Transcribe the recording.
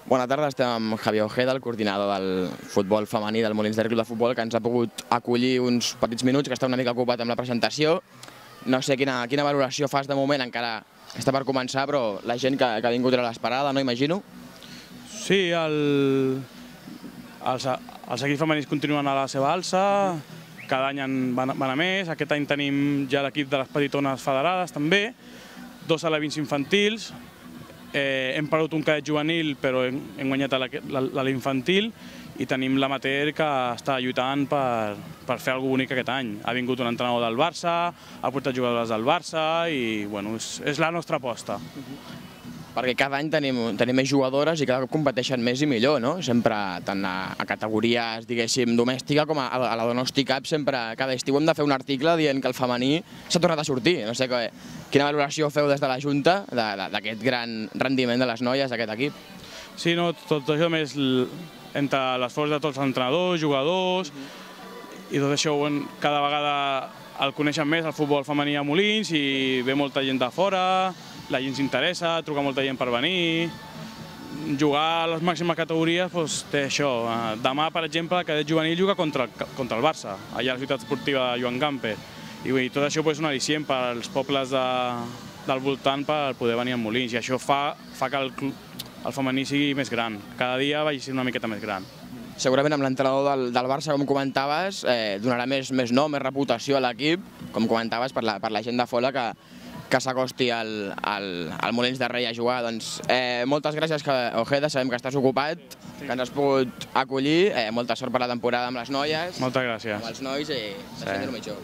Bona tarda, estem amb Javier Ojeda, el coordinador del futbol femení del Molins de Rei Club de Futbol, que ens ha pogut acollir uns petits minuts, que està una mica ocupat amb la presentació. No sé quina valoració fas de moment, encara està per començar, però la gent que ha vingut era l'esperada, no imagino? Sí, els equips femenins continuen a la seva alça, cada any van a més. Aquest any tenim ja l'equip de les petitones federades també, 2 alevins infantils, hem perdut un cadet juvenil però hem guanyat l'infantil i tenim l'amateur que està lluitant per fer alguna cosa bonic aquest any. Ha vingut un entrenador del Barça, ha portat jugadores del Barça i és la nostra aposta. Perquè cada any tenim més jugadores i cada cop competeixen més i millor, no? Sempre, tant a categories, diguéssim, domèstica com a la Donosti Cup, sempre, cada estiu hem de fer un article dient que el femení s'ha tornat a sortir. No sé quina valoració feu des de la Junta d'aquest gran rendiment de les noies d'aquest equip. Sí, tot això més entre l'esforç de tots els entrenadors, jugadors, i tot això cada vegada el coneixen més, el futbol femení a Molins, i ve molta gent de fora, la gent s'interessa, truca molta gent per venir. Jugar a les màximes categories té això. Demà, per exemple, el cadet juvenil juga contra el Barça, allà a la ciutat esportiva de Joan Gamper. I tot això és un al·licient per als pobles del voltant per poder venir a Molins, i això fa que el femení sigui més gran, cada dia vagi sent una miqueta més gran. Segurament amb l'entrenador del Barça, com comentaves, donarà més nom, més reputació a l'equip, com comentaves, per la gent de fora que s'acosti al Molins de Rei a jugar. Moltes gràcies, Ojeda, sabem que estàs ocupat, que ens has pogut acollir. Molta sort per la temporada amb les noies. Moltes gràcies. Amb els nois i deixem-ho mitjor.